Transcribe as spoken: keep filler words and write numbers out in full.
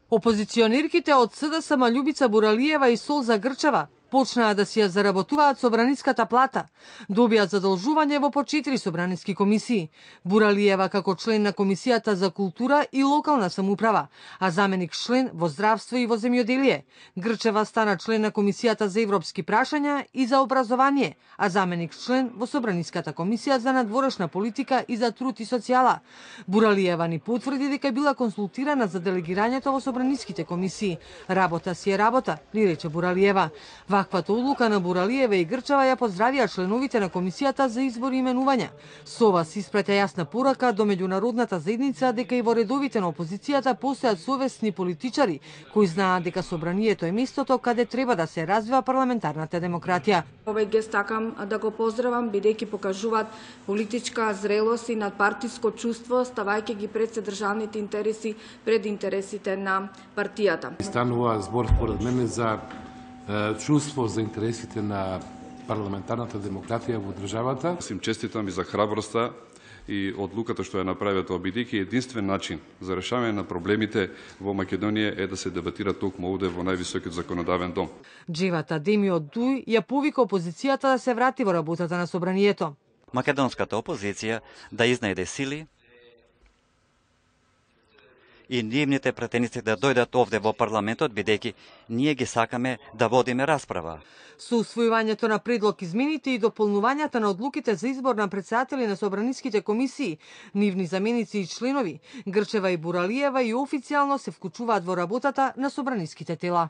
Опозиционерките од СДСМ Љубица Буралиева и Солза Грчева почнаа да си ја заработуваат собраниската плата. Добија задолжување во по четири собраниски комисии. Буралиева како член на Комисијата за култура и локална самоуправа, а заменик член во здравство и во земјоделие. Грчева стана член на Комисијата за европски прашања и за образование, а заменик член во Собраниската комисија за надворешна политика и за труд и социјала. Буралиева ни потврди дека била консултирана за делегирањето во собраниските комисии. Работа си е работа, ли рече Буралиева. Ваквата одлука на Буралиева и Грчева ја поздравија членовите на Комисијата за избор и именувања. Со ова се испраќа јасна порака до меѓународната заедница дека и во редовите на опозицијата постојат совесни политичари кои знаат дека собранието е местото каде треба да се развива парламентарната демократија. Овој гест сакам да го поздравам бидејќи покажуваат политичка зрелост и надпартиско чувство, ставајќи ги пред се државните интереси пред интересите на партијата. Станува збор според мене за чувство за интересите на парламентарната демократија во државата. Сим честитам и за храброста и одлуката што ја направија тоа, бидејќи единствен начин за решавање на проблемите во Македонија е да се дебатира токму овде во највисокиот законодавен дом. Джевата Демио Дуј ја повика опозицијата да се врати во работата на собранието. Македонската опозиција да изнајде сили и нивните претеници да дојдат овде во парламентот, бидејќи ние ги сакаме да водиме расправа. Со усвојувањето на предлог измените и дополнувањата на одлуките за избор на претседатели на собраниските комисии, нивни заменици и членови, Грчева и Буралиева и официјално се вклучуваат во работата на собраниските тела.